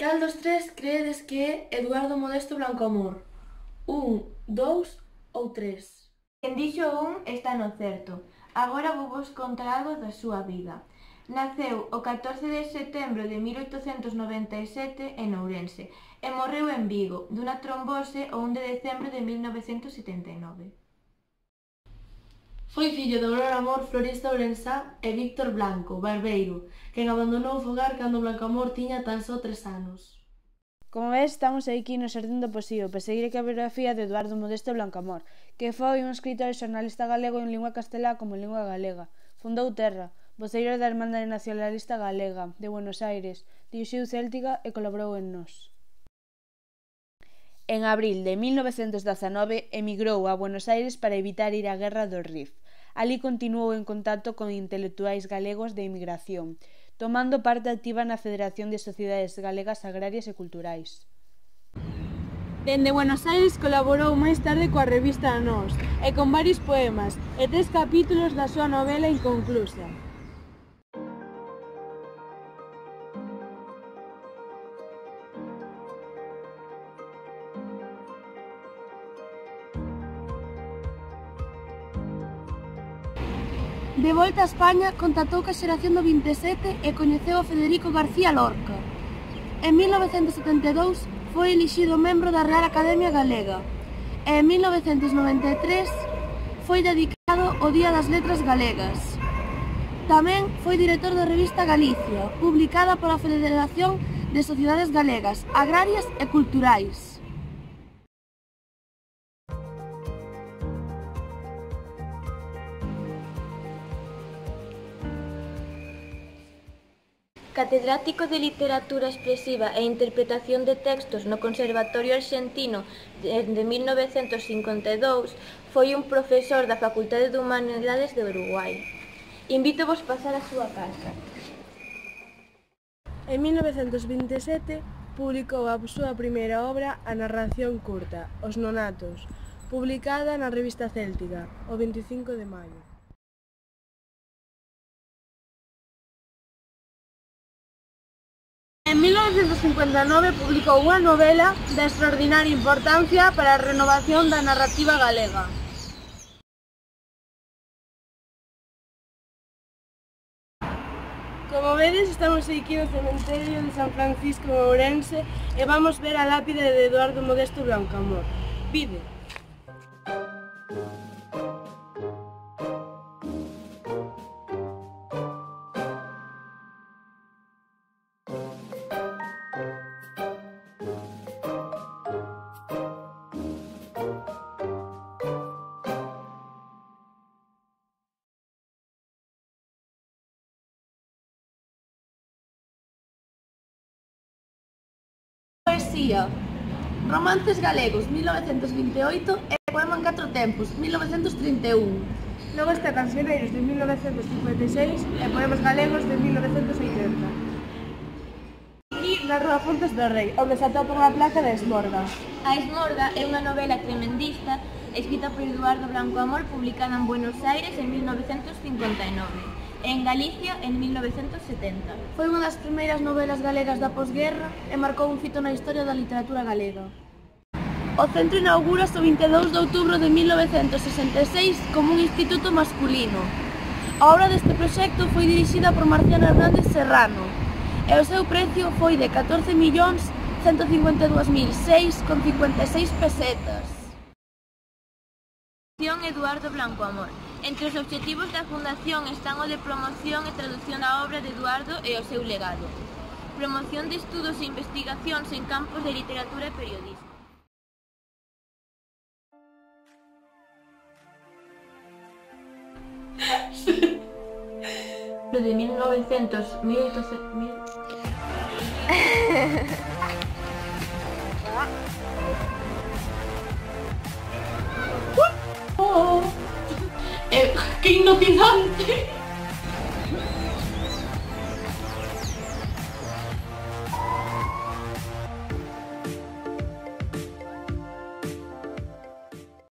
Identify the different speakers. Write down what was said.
Speaker 1: Cal dos tres creedes que é Eduardo Modesto Blancoamor? 1, 2 ou 3?
Speaker 2: Quen dixo un está no certo. Agora vou vos contar algo da súa vida. Naceu o 14 de setembro de 1897 en Ourense e morreu en Vigo dunha trombose o 1 de decembro de 1979.
Speaker 1: Foi fillo de Aurora Amor, florista ourensá, e Víctor Blanco, barbeiro, quen abandonou o fogar cando Blancoamor tiña tan só 3 anos.
Speaker 3: Como ves, estamos aquí no Xardín do Poesío para seguir a biografía de Eduardo Modesto Blancoamor, que foi un escritor e xornalista galego en lingua castelá como en lingua galega. Fundou Terra, voceiro da Irmandade Nacionalista Galega, de Buenos Aires, dirixiu Céltica e colaborou en Nós. En abril de 1919 emigrou a Buenos Aires para evitar ir á Guerra do Rif. Alí continuou en contacto con intelectuais galegos de emigración, tomando parte activa na Federación de Sociedades Galegas Agrarias e Culturais.
Speaker 4: Dende Buenos Aires colaborou máis tarde coa revista Nós e con varios poemas e 3 capítulos da súa novela inconclusa. De volta a España, contactou coa xeración do 27 e coñeceu a Federico García Lorca. En 1972 foi elixido membro da Real Academia Galega e en 1993 foi dedicado ao Día das Letras Galegas. Tamén foi director da revista Galicia, publicada pola Federación de Sociedades Galegas, Agrarias e Culturais.
Speaker 2: Catedrático de Literatura Expresiva e Interpretación de Textos no Conservatorio Arxentino desde 1952, foi un profesor da Facultade de Humanidades de Uruguai. Invítovos pasar á súa casa.
Speaker 4: En 1927 publicou a súa primeira obra, a narración curta, Os Nonatos, publicada na revista Céltica, o 25 de maio. En 1959 publicou unha novela de extraordinaria importancia para a renovación da narrativa galega. Como vedes, estamos aquí no cementerio de San Francisco de Ourense e vamos ver a lápide de Eduardo Modesto Blancoamor. Vide!
Speaker 1: Poesía. Romances galegos, 1928 e Poema en 4 tempos, 1931.
Speaker 4: Logo está Cancioneiros de 1956 e Poemas galegos de 1980. Aquí na Rúa Fontes do Rei, onde se atopa unha placa da Esmorga.
Speaker 2: A Esmorga é unha novela tremendista escrita por Eduardo Blancoamor, publicada en Buenos Aires en 1959 e en Galicia en 1970.
Speaker 1: Foi unha das primeiras novelas galegas da posguerra e marcou un fito na historia da literatura galega. O centro inaugúrase o 22 de outubro de 1966 como un instituto masculino. A obra deste proxecto foi dirixida por Marciano Hernández Serrano e o seu precio foi de 14.152.006,56 pesetas.
Speaker 2: Eduardo Blancoamor. Entre os obxectivos da Fundación están o de promoción e traducción da obra de Eduardo e o seu legado. Promoción de estudos e investigacións en campos de literatura e periodismo. De 1800...
Speaker 1: ¡Qué hipnotizante!